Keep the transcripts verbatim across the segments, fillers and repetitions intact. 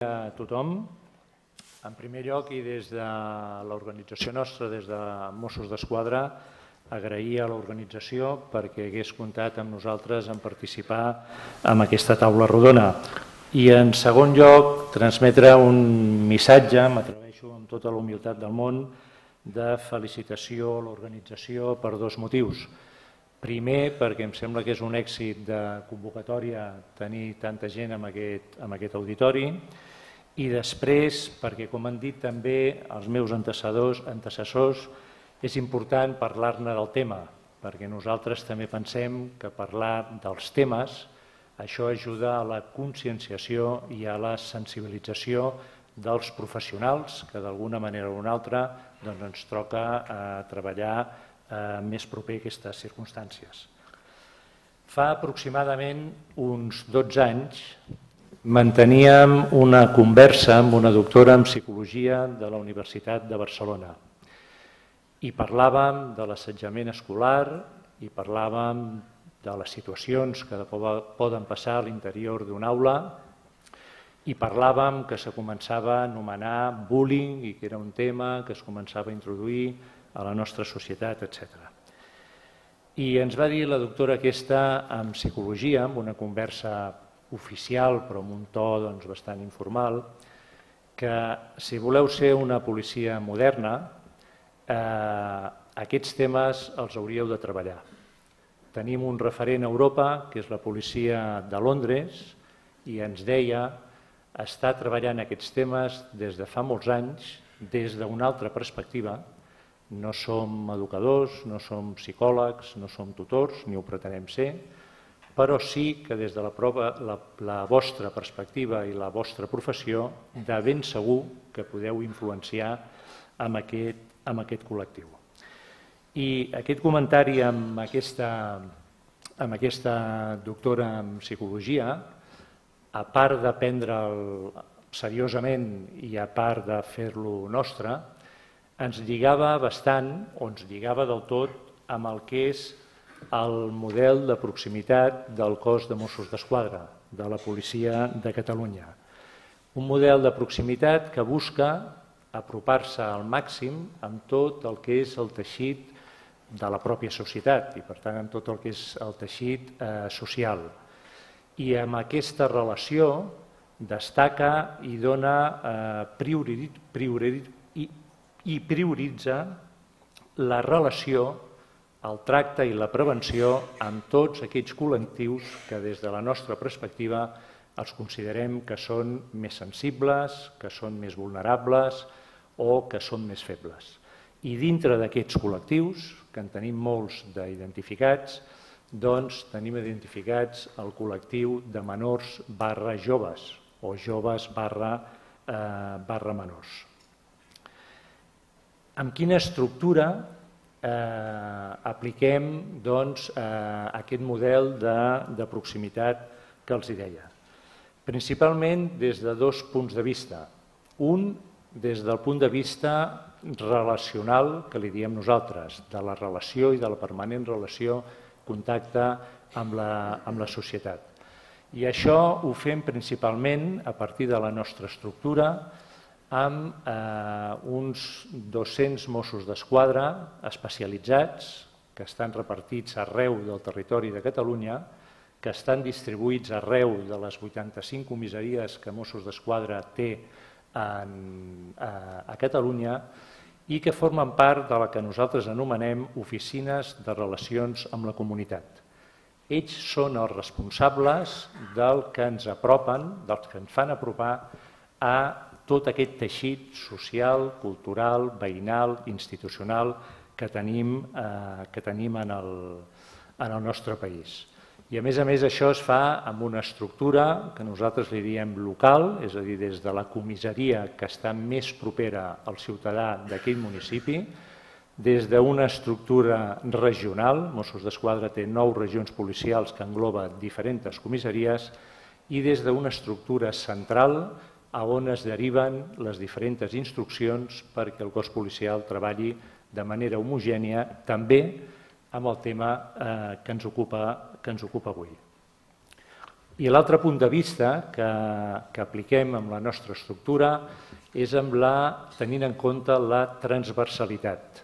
A tothom. En primer lloc, i des de l'organització nostra, des de Mossos d'Esquadra, agrair a l'organització perquè hagués comptat amb nosaltres en participar en aquesta taula rodona. I en segon lloc, transmetre un missatge, m'atreveixo amb tota la humilitat del món, de felicitació a l'organització per dos motius. Primer, perquè em sembla que és un èxit de convocatòria tenir tanta gent en aquest, en aquest auditori, i després, perquè, com han dit també els meus antecessors, antecessors és important parlar-ne del tema, perquè nosaltres també pensem que parlar dels temes, això ajuda a la conscienciació i a la sensibilització dels professionals que d'alguna manera o una altra doncs, ens toca eh, treballar eh, més proper a aquestes circumstàncies. Fa aproximadament uns dotze anys manteníem una conversa amb una doctora en psicologia de la Universitat de Barcelona i parlàvem de l'assetjament escolar i parlàvem de les situacions que poden passar a l'interior d'una aula i parlàvem que se començava a anomenar bullying i que era un tema que es començava a introduir a la nostra societat, etcètera. I ens va dir la doctora aquesta en psicologia, en una conversa oficial, però amb un to doncs, bastant informal, que si voleu ser una policia moderna, eh, aquests temes els hauríeu de treballar. Tenim un referent a Europa, que és la policia de Londres, i ens deia està treballant aquests temes des de fa molts anys, des d'una altra perspectiva. No som educadors, no som psicòlegs, no som tutors, ni ho pretenem ser, però sí que des de la, prova, la, la vostra perspectiva i la vostra professió de ben segur que podeu influenciar amb aquest, amb aquest col·lectiu. I aquest comentari amb aquesta, amb aquesta doctora en psicologia, a part de prendre'l seriosament i a part de fer-lo nostre, ens lligava bastant, o ens lligava del tot, amb el que és el model de proximitat del cos de Mossos d'Esquadra, de la policia de Catalunya. Un model de proximitat que busca apropar-se al màxim amb tot el que és el teixit de la pròpia societat i, per tant, amb tot el que és el teixit eh, social. I amb aquesta relació destaca i dona eh, priori, priori, i, i prioritza la relació, el tracte i la prevenció amb tots aquells col·lectius que des de la nostra perspectiva els considerem que són més sensibles, que són més vulnerables o que són més febles. I dintre d'aquests col·lectius, que en tenim molts d'identificats, doncs tenim identificats el col·lectiu de menors barra joves o joves barra, eh, barra menors. Amb quina estructura eh, apliquem doncs, eh, aquest model de, de proximitat que els deia? Principalment des de dos punts de vista. Un, des del punt de vista relacional, que li diem nosaltres, de la relació i de la permanent relació, contacte amb la, amb la societat. I això ho fem principalment a partir de la nostra estructura, amb eh, uns dos-cents Mossos d'Esquadra especialitzats que estan repartits arreu del territori de Catalunya, que estan distribuïts arreu de les vuitanta-cinc comissaries que Mossos d'Esquadra té en, a, a Catalunya i que formen part de la que nosaltres anomenem oficines de relacions amb la comunitat. Ells són els responsables del que ens apropen, dels que ens fan apropar a tot aquest teixit social, cultural, veïnal, institucional que tenim, eh, que tenim en, el, en el nostre país. I a més a més això es fa amb una estructura que nosaltres li diem local, és a dir, des de la comissaria que està més propera al ciutadà d'aquell municipi, des d'una estructura regional, Mossos d'Esquadra té nou regions policials que engloba diferents comissaries, i des d'una estructura central a on es deriven les diferents instruccions perquè el cos policial treballi de manera homogènia, també amb el tema eh, que, ens ocupa, que ens ocupa avui. I l'altre punt de vista que, que apliquem amb la nostra estructura és amb la, tenint en compte la transversalitat.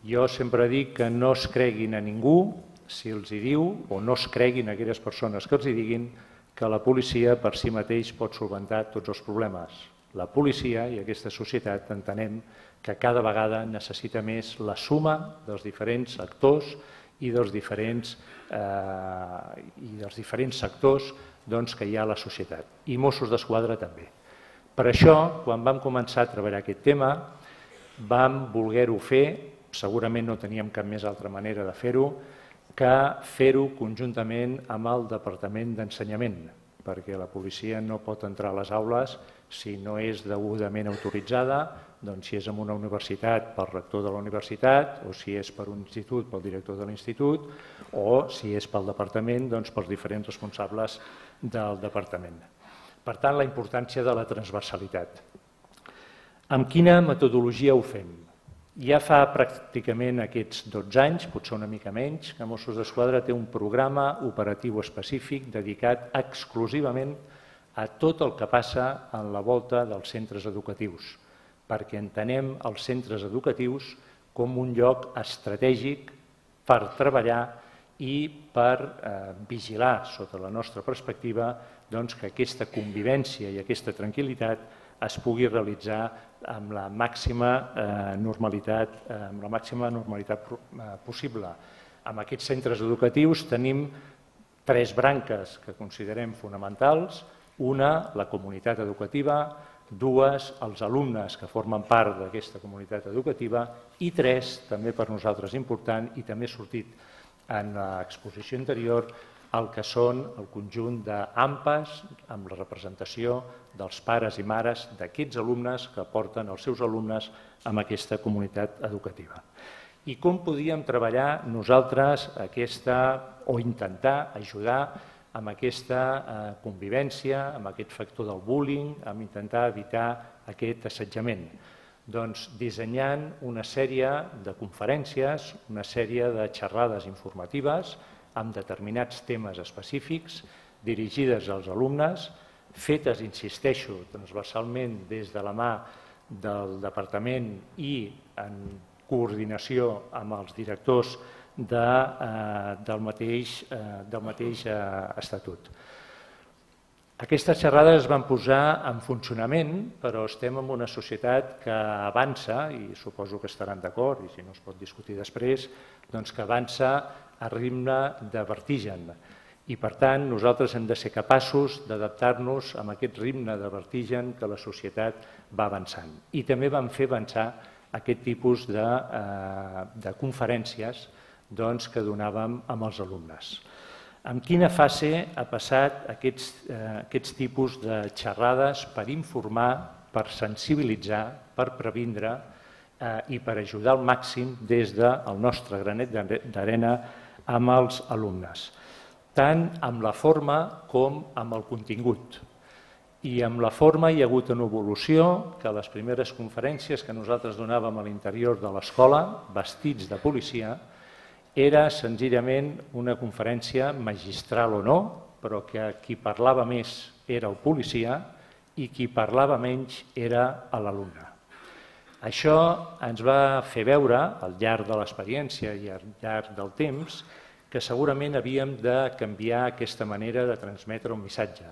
Jo sempre dic que no es creguin a ningú si els hi diu, o no es creguin a aquelles persones que els hi diguin que la policia per si mateix pot solventar tots els problemes. La policia i aquesta societat entenem que cada vegada necessita més la suma dels diferents actors i dels diferents, eh, i dels diferents sectors doncs, que hi ha a la societat. I Mossos d'Esquadra també. Per això, quan vam començar a treballar aquest tema, vam voler-ho fer, segurament no teníem cap més altra manera de fer-ho, que fer-ho conjuntament amb el Departament d'Ensenyament, perquè la policia no pot entrar a les aules si no és degudament autoritzada, doncs si és en una universitat pel rector de la universitat, o si és per un institut pel director de l'institut, o si és pel departament, doncs pels diferents responsables del departament. Per tant, la importància de la transversalitat. Amb quina metodologia ho fem? Ja fa pràcticament aquests dotze anys, potser una mica menys, que Mossos d'Esquadra té un programa operatiu específic dedicat exclusivament a tot el que passa en la volta dels centres educatius, perquè entenem els centres educatius com un lloc estratègic per treballar i per eh, vigilar, sota la nostra perspectiva, doncs, que aquesta convivència i aquesta tranquil·litat es pugui realitzar amb la màxima eh, normalitat, eh, amb la màxima normalitat eh, possible. En aquests centres educatius tenim tres branques que considerem fonamentals. Una, la comunitat educativa, dues, els alumnes que formen part d'aquesta comunitat educativa i tres, també per nosaltres important i també ha sortit en l'exposició anterior, el que són el conjunt d'A M P As amb la representació dels pares i mares d'aquests alumnes que porten els seus alumnes en aquesta comunitat educativa. I com podíem treballar nosaltres aquesta, o intentar ajudar amb aquesta convivència, amb aquest factor del bullying, amb intentar evitar aquest assetjament? Doncs dissenyant una sèrie de conferències, una sèrie de xerrades informatives amb determinats temes específics dirigides als alumnes, fetes, insisteixo, transversalment des de la mà del departament i en coordinació amb els directors de, eh, del mateix, eh, del mateix eh, estatut. Aquestes xerrades es van posar en funcionament, però estem en una societat que avança, i suposo que estaran d'acord, i si no es pot discutir després, doncs que avança a ritme de vertigen. I, per tant, nosaltres hem de ser capaços d'adaptar-nos a aquest ritme de vertigen que la societat va avançant. I també vam fer avançar aquest tipus de, eh, de conferències doncs, que donàvem amb els alumnes. En quina fase ha passat aquests, eh, aquests tipus de xerrades per informar, per sensibilitzar, per previndre eh, i per ajudar al màxim des del nostre granet d'arena amb els alumnes, tant amb la forma com amb el contingut. I amb la forma hi ha hagut una evolució que a les primeres conferències que nosaltres donàvem a l'interior de l'escola, vestits de policia, era senzillament una conferència magistral o no, però que qui parlava més era el policia i qui parlava menys era l'alumne. Això ens va fer veure, al llarg de l'experiència i al llarg del temps, que segurament havíem de canviar aquesta manera de transmetre un missatge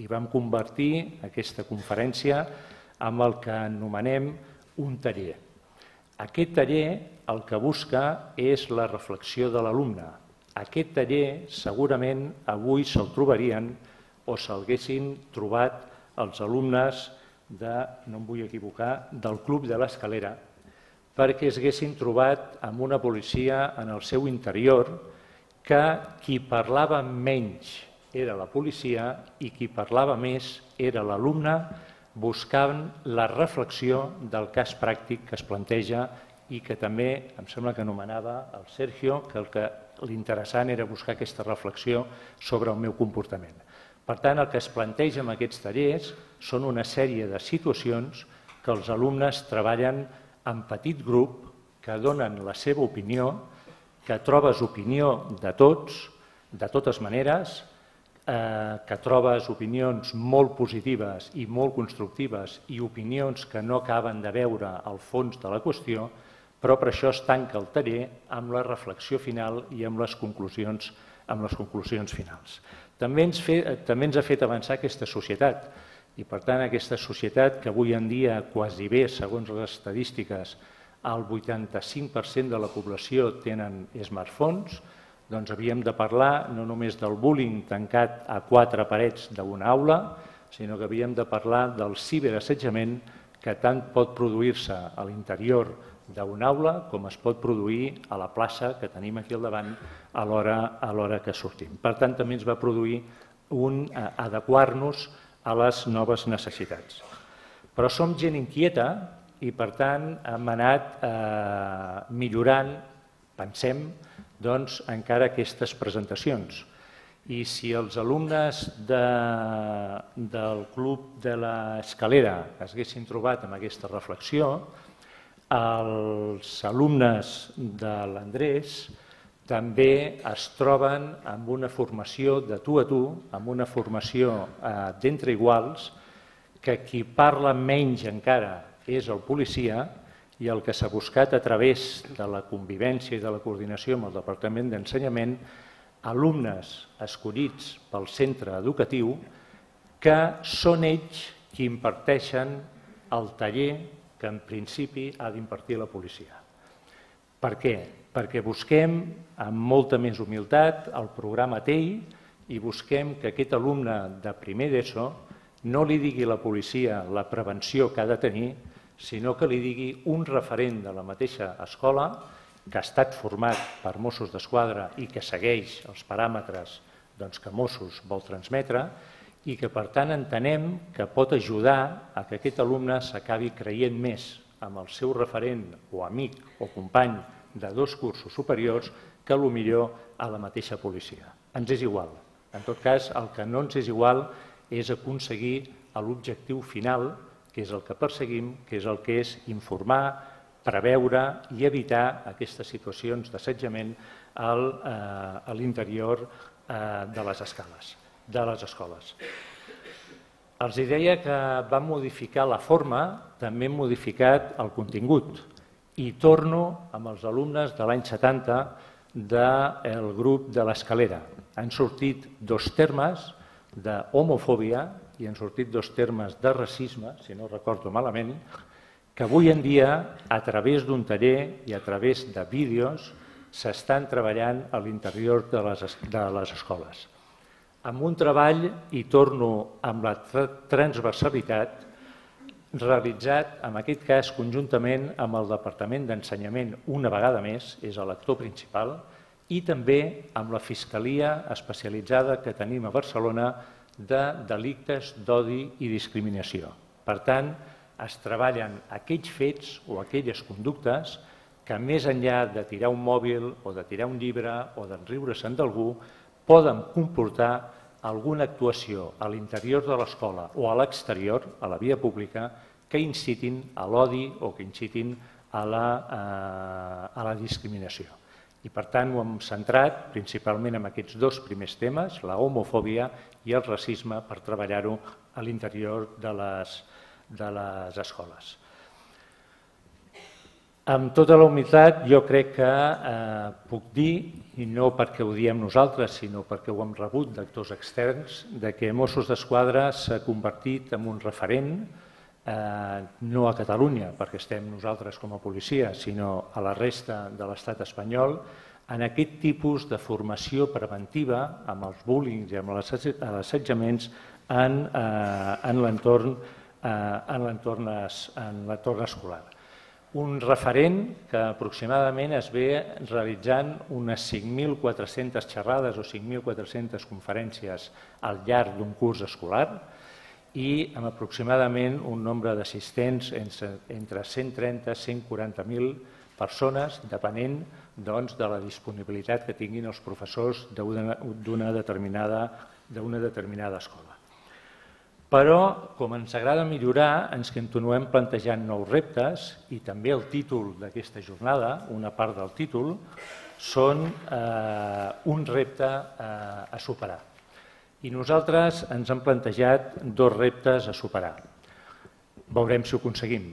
i vam convertir aquesta conferència en el que anomenem un taller. Aquest taller el que busca és la reflexió de l'alumne. Aquest taller segurament avui se'l trobarien o s'haguessin trobat els alumnes de, no em vull equivocar, del Club de l'Escalera, perquè es haguessin trobat amb una policia en el seu interior que qui parlava menys era la policia i qui parlava més era l'alumne buscant la reflexió del cas pràctic que es planteja i que també, em sembla que anomenava el Sergio, que el que l'interessant era buscar aquesta reflexió sobre el meu comportament. Per tant, el que es planteja en aquests tallers són una sèrie de situacions que els alumnes treballen en petit grup, que donen la seva opinió, que trobes opinió de tots, de totes maneres, que trobes opinions molt positives i molt constructives i opinions que no acaben de veure el fons de la qüestió, però per això es tanca el taller amb la reflexió final i amb les conclusions, amb les conclusions finals. També ens, fe, també ens ha fet avançar aquesta societat i, per tant, aquesta societat que avui en dia quasi bé, segons les estadístiques, el vuitanta-cinc per cent de la població tenen smartphones, doncs havíem de parlar no només del bullying tancat a quatre parets d'una aula, sinó que havíem de parlar del ciberassetjament que tant pot produir-se a l'interior d'una aula com es pot produir a la plaça que tenim aquí al davant a l'hora que sortim. Per tant, també ens va produir un adequar-nos a les noves necessitats. Però som gent inquieta i, per tant, hem anat millorant, pensem, doncs, encara aquestes presentacions. I si els alumnes del Club de l'Escalera es haguessin trobat amb aquesta reflexió, els alumnes de l'Andrés també es troben amb una formació de tu a tu, amb una formació d'entre iguals, que qui parla menys encara és el policia, i el que s'ha buscat a través de la convivència i de la coordinació amb el Departament d'Ensenyament, alumnes escollits pel centre educatiu que són ells qui imparteixen el taller que en principi ha d'impartir la policia. Per què? Perquè busquem amb molta més humilitat el programa T E I i busquem que aquest alumne de primer d'ESO no li digui a la policia la prevenció que ha de tenir, sinó que li digui un referent de la mateixa escola que ha estat format per Mossos d'Esquadra i que segueix els paràmetres que Mossos vol transmetre i que, per tant, entenem que pot ajudar a que aquest alumne s'acabi creient més amb el seu referent o amic o company de dos cursos superiors que potser a la mateixa policia. Ens és igual. En tot cas, el que no ens és igual és aconseguir l'objectiu final, que és el que perseguim, que és el que és informar, preveure i evitar aquestes situacions d'assetjament a l'interior de les escoles. Els deia que vam modificar la forma, també hem modificat el contingut i torno amb els alumnes de l'any setanta del grup de l'Escalera. Han sortit dos termes d'homofòbia i han sortit dos termes de racisme, si no recordo malament, que avui en dia, a través d'un taller i a través de vídeos, s'estan treballant a l'interior de les escoles. Amb un treball, i torno amb la transversalitat, realitzat, en aquest cas, conjuntament amb el Departament d'Ensenyament una vegada més, és l'actor principal, i també amb la Fiscalia especialitzada que tenim a Barcelona de delictes d'odi i discriminació. Per tant, es treballen aquells fets o aquelles conductes que, més enllà de tirar un mòbil o de tirar un llibre o d'enriure-se'n d'algú, poden comportar alguna actuació a l'interior de l'escola o a l'exterior, a la via pública, que incitin a l'odi o que incitin a la discriminació. I, per tant, ho hem centrat principalment en aquests dos primers temes, la homofòbia i el racisme, per treballar-ho a l'interior de les escoles. Amb tota la humilitat, jo crec que puc dir, i no perquè ho diem nosaltres, sinó perquè ho hem rebut d'actors externs, que Mossos d'Esquadra s'ha convertit en un referent, no a Catalunya, perquè estem nosaltres com a policia, sinó a la resta de l'estat espanyol, en aquest tipus de formació preventiva amb els bullings i amb els assetjaments en l'entorn escolar. Un referent que aproximadament es ve realitzant unes cinc mil quatre-centes xerrades o cinc mil quatre-centes conferències al llarg d'un curs escolar i amb aproximadament un nombre d'assistents entre cent trenta i cent quaranta mil persones, depenent de la disponibilitat que tinguin els professors d'una determinada escola. Però, com ens agrada millorar, ens continuem plantejant nous reptes i també el títol d'aquesta jornada, una part del títol, són un repte a superar. I nosaltres ens hem plantejat dos reptes a superar. Veurem si ho aconseguim.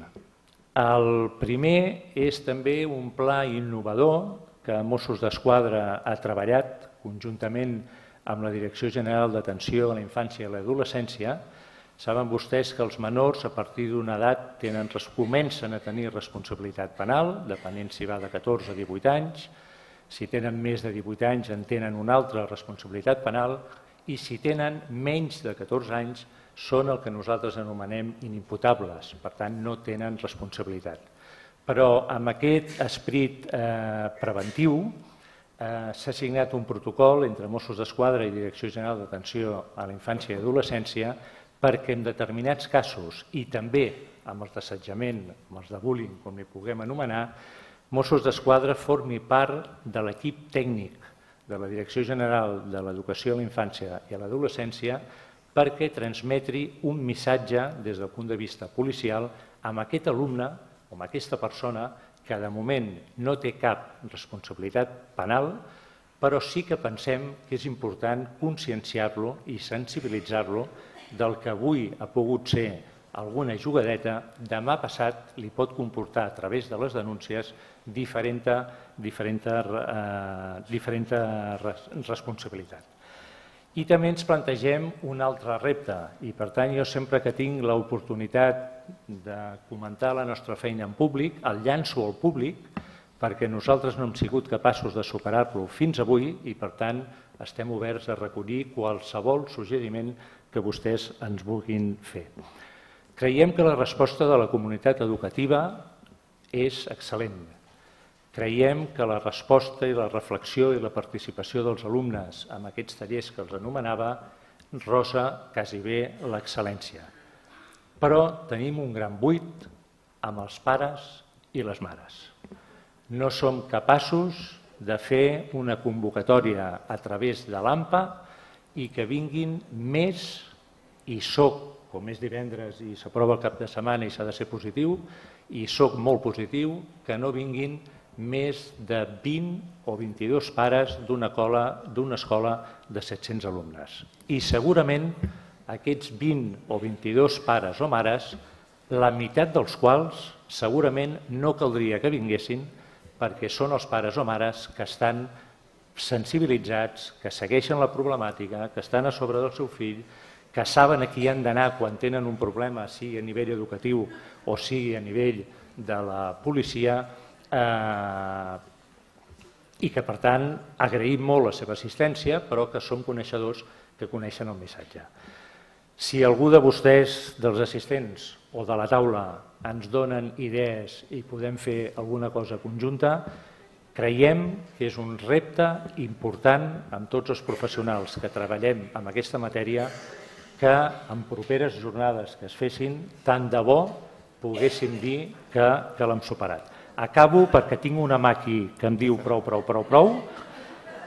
El primer és també un pla innovador que Mossos d'Esquadra ha treballat conjuntament amb la Direcció General d'Atenció a la Infància i l'Adolescència. Saben vostès que els menors a partir d'una edat tenen, comencen a tenir responsabilitat penal, depenent si va de catorze a divuit anys. Si tenen més de divuit anys en tenen una altra responsabilitat penal i si tenen menys de catorze anys són el que nosaltres anomenem inimputables, per tant no tenen responsabilitat. Però amb aquest esperit eh, preventiu eh, s'ha signat un protocol entre Mossos d'Esquadra i Direcció General d'Atenció a la Infància i Adolescència perquè en determinats casos i també amb els d'assetjament, amb els de bullying, com li puguem anomenar, Mossos d'Esquadra formi part de l'equip tècnic de la Direcció General de l'Educació a la Infància i a l'Adolescència perquè transmetri un missatge des del punt de vista policial amb aquest alumne o amb aquesta persona que de moment no té cap responsabilitat penal, però sí que pensem que és important conscienciar-lo i sensibilitzar-lo del que avui ha pogut ser alguna jugadeta, demà passat li pot comportar a través de les denúncies diferent, diferent, eh, diferent responsabilitat. I també ens plantegem un altre repte i per tant jo sempre que tinc l'oportunitat de comentar la nostra feina en públic, el llanço al públic perquè nosaltres no hem sigut capaços de superar-lo fins avui i per tant estem oberts a recollir qualsevol suggeriment que vostès ens vulguin fer. Creiem que la resposta de la comunitat educativa és excel·lent. Creiem que la resposta i la reflexió i la participació dels alumnes en aquests tallers que els anomenava rosa quasi bé l'excel·lència. Però tenim un gran buit amb els pares i les mares. No som capaços de fer una convocatòria a través de l'A M P A i que vinguin més, i soc, com és divendres i s'aprova el cap de setmana i s'ha de ser positiu, i soc molt positiu, que no vinguin més de vint o vint-i-dos pares d'una escola de set-cents alumnes. I segurament aquests vint o vint-i-dos pares o mares, la meitat dels quals segurament no caldria que vinguessin perquè són els pares o mares que estan sensibilitzats, que segueixen la problemàtica, que estan a sobre del seu fill, que saben a qui han d'anar quan tenen un problema, sigui a nivell educatiu o sigui a nivell de la policia, eh, i que, per tant, agraïm molt la seva assistència, però que som coneixedors que coneixen el missatge. Si algú de vostès, dels assistents o de la taula, ens donen idees i podem fer alguna cosa conjunta, creiem que és un repte important amb tots els professionals que treballem en aquesta matèria que en properes jornades que es fessin, tant de bo poguéssim dir que, que l'hem superat. Acabo perquè tinc una mà aquí que em diu prou, prou, prou, prou.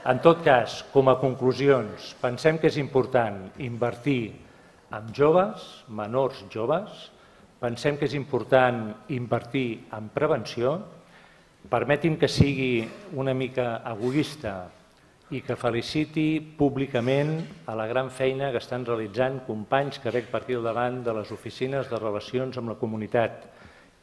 En tot cas, com a conclusions, pensem que és important invertir en joves, menors joves, pensem que és important invertir en prevenció. Permeti'm que sigui una mica egoista i que feliciti públicament a la gran feina que estan realitzant companys que veig per aquí al davant de les oficines de relacions amb la comunitat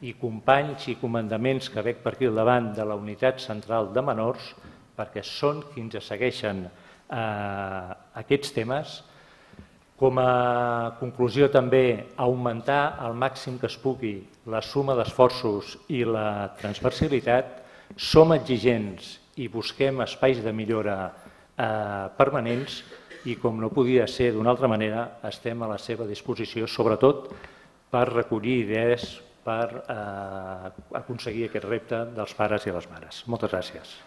i companys i comandaments que veig per aquí al davant de la unitat central de menors, perquè són qui ens segueixen eh, aquests temes. Com a conclusió també, augmentar al màxim que es pugui la suma d'esforços i la transversalitat. Som exigents i busquem espais de millora eh, permanents i, com no podia ser d'una altra manera, estem a la seva disposició, sobretot per recollir idees per eh, aconseguir aquest repte dels pares i les mares. Moltes gràcies.